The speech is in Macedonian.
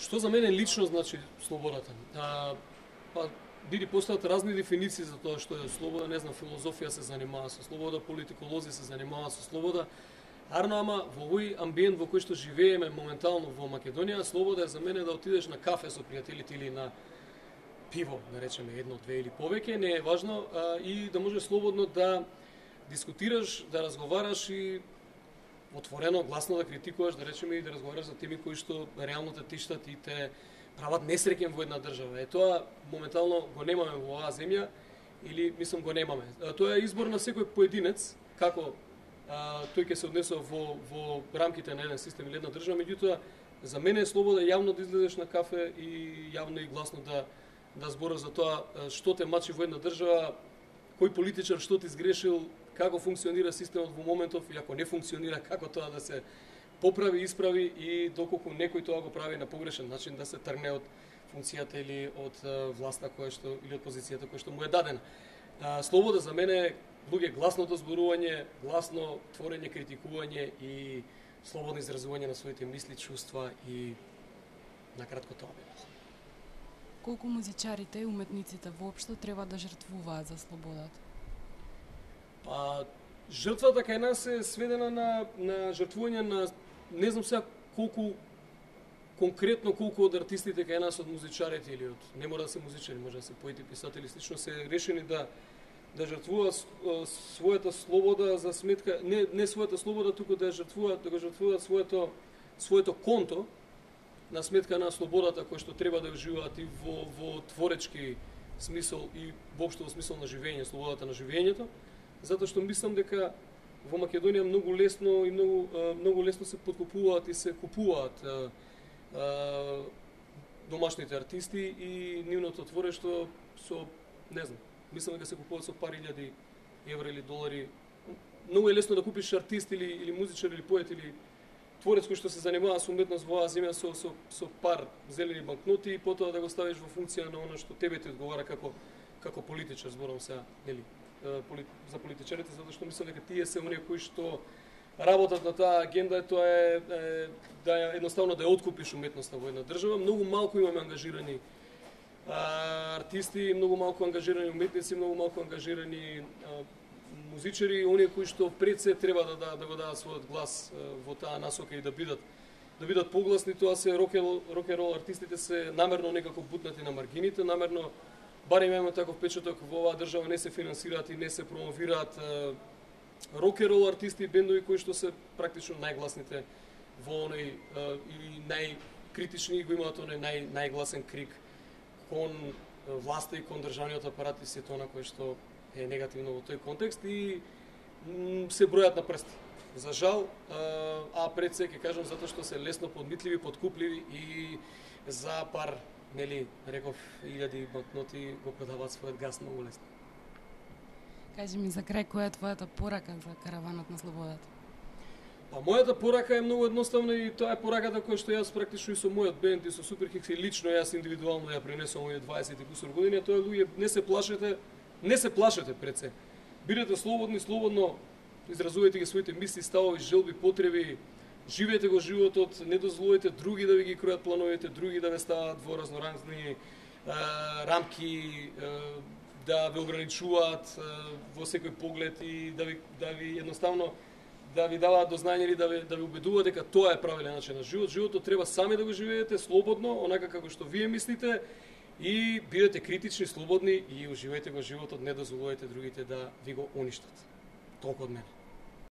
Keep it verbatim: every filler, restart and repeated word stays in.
Што за мене лично значи слободата? А, па, биде постојат разни дефиниции за тоа што е слобода, не знам, филозофија се занимава со слобода, политиколози се занимаваат со слобода. Арно, ама во овој амбиент во кој што живееме моментално во Македонија, слобода е за мене да отидеш на кафе со пријателите или на пиво, да речеме едно, две или повеќе, не е важно, а, и да можеш слободно да дискутираш, да разговараш и отворено, гласно да критикуваш, да речеме, и да разговараш за теми кои што реално те тиштат и те прават несреќен во една држава. Е тоа моментално го немаме во оваа земја или мислам го немаме. А, тоа е избор на секој поединец како а, тој ќе се однесува во во рамките на еден систем или една држава, меѓутоа за мене е слобода јавно да излезеш на кафе и јавно и гласно да да збориш за тоа што те мачи во една држава, кој политичар што ти сгрешил, како функционира системот во моментов и ако не функционира, како тоа да се поправи, исправи и доколку некој тоа го прави на погрешен начин да се тргне од функцијата или од власта која што или од позицијата која што му е дадена. А, слобода за мене е луѓе гласното зборување, гласно творење, критикување и слободно изразување на своите мисли, чувства и на кратко тоа бе. Колку музичарите и уметниците воопшто треба да жртвуваат за слободата? Па, жртвата кај нас е сведена на, на жртвување на, не знам сега колку, конкретно колку од артистите кај нас, од музичарите или од, не мора да се музичари, може да се поети, писатели, слично се решени да да жртвуваат својата слобода за сметка, не, не својата слобода, туку да жртвуваат, да го жртвуваат своето, своето конто, на сметка на слободата која што треба да уживаат и во, во творечки смисол и воопшто во смисол на живење, слободата на живењето, затоа што мислам дека во Македонија многу лесно и многу многу лесно се подкупуваат и се купуваат а, а, домашните артисти и нивното творештво со, не знам, мислам дека се купуваат со пари илјади евра или долари. Многу е лесно да купиш артист или или музичар или поет или творец кој што се занимава со уметност во оваа земја со со со пар зелени банкноти и потоа да го ставиш во функција на она што тебе ти одговара како како политичар, зборам сега, нели, за политичарите, затоа што мислам дека тие се оние кои што работат на таа агенда, тоа е, е да ја едноставно да ја откупиш уметноста во една држава. Многу малку имаме ангажирани а, артисти, многу малку ангажирани уметници, многу малку ангажирани а, музичари, оние кои што пред се треба да, да, да го дадат својот глас а, во таа насока и да бидат да бидат погласни. Тоа се рок-н-рол артистите се намерно некако бутнати на маргините, намерно барем имаме таков печаток во оваа држава, не се финансираат и не се промовираат рок-н-рол артисти и бендови кои што се практично најгласните во оној и најкритични, го имаат оној нај најгласен крик кон власта и кон државниот апарат и сето она кое што е негативно во тој контекст и се бројат на прсти. За жал, а пред се ќе кажам затоа што се лесно подмитливи, подкупливи и за пар, нели, реков, илјади банкноти го продаваат својот газ многу лесно. Кажи ми за крај, која е твојата порака за караванот на слободата? Па мојата порака е многу едноставна и тоа е пораката која што јас практично и со мојот бенд и со Суперхикс и лично јас индивидуално ја пренесувам овие дваесет и кусур години, тоа е луѓе, не се плашете, не се плашете пред се. Бидете слободни, слободно изразувајте ги своите мисли, ставови, желби, потреби, живеете го животот, не дозволете други да ви ги кројат плановите, други да ве стават во разноразни рамки, е, да ве ограничуваат е, во секој поглед и да ви да ви едноставно да ви даваат до знаење или да ви да ви убедуваат дека тоа е правилен начин на живот. Животот треба сами да го живеете слободно, онака како што вие мислите и бидете критични, слободни и уживајте го животот, не дозволувајте другите да ви го уништат. Толку од мене.